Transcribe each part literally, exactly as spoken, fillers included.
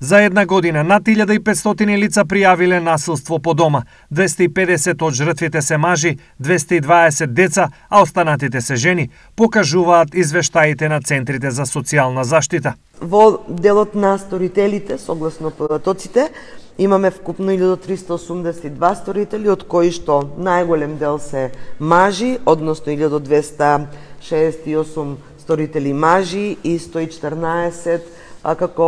За една година над илјада и петстотини лица пријавиле насилство по дома. двесте и педесет од жртвите се мажи, двесте и дваесет деца, а останатите се жени, покажуваат извештаите на центрите за социјална заштита. Во делот на сторителите, согласно податоците, имаме вкупно илјада триста осумдесет и два сторители, од кои што најголем дел се мажи, односно илјада двесте шеесет и осум сторители мажи и сто и четрнаесет а како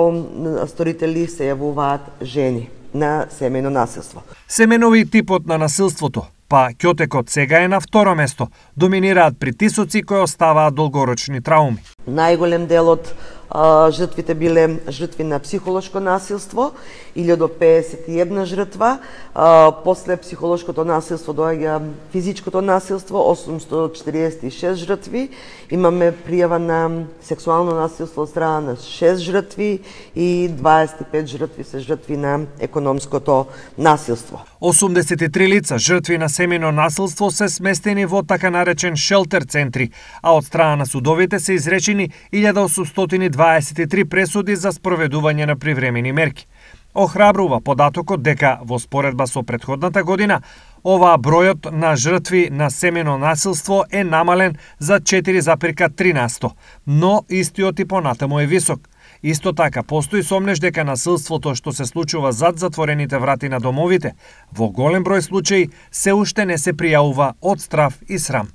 сторители се јавуваат жени на семејно насилство. Семенови типот на насилството, па ќотекот сега е на второ место, доминираат притисоци кои оставаат долгорочни трауми. Најголем дел од а, жртвите биле жртви на психолошко насилство, илјада педесет и една жртва, а, после психолошкото насилство доаѓа физичкото насилство, осумстотини четиридесет и шест жртви, имаме пријава на сексуално насилство од страна на шест жртви и дваесет и пет жртви се жртви на економското насилство. осумдесет и три лица жртви на семејно насилство се сместени во така наречен шелтер центри, а од страна на судовите се изречени илјада осумстотини дваесет и три пресуди за спроведување на привремени мерки. Охрабрува податокот дека во споредба со претходната година оваа бројот на жртви на семејно насилство е намален за четири запирка три на сто, но истиот и понатаму е висок. Исто така, постои сомнеш дека насилството што се случува зад затворените врати на домовите, во голем број случаи се уште не се пријавува од страв и срам.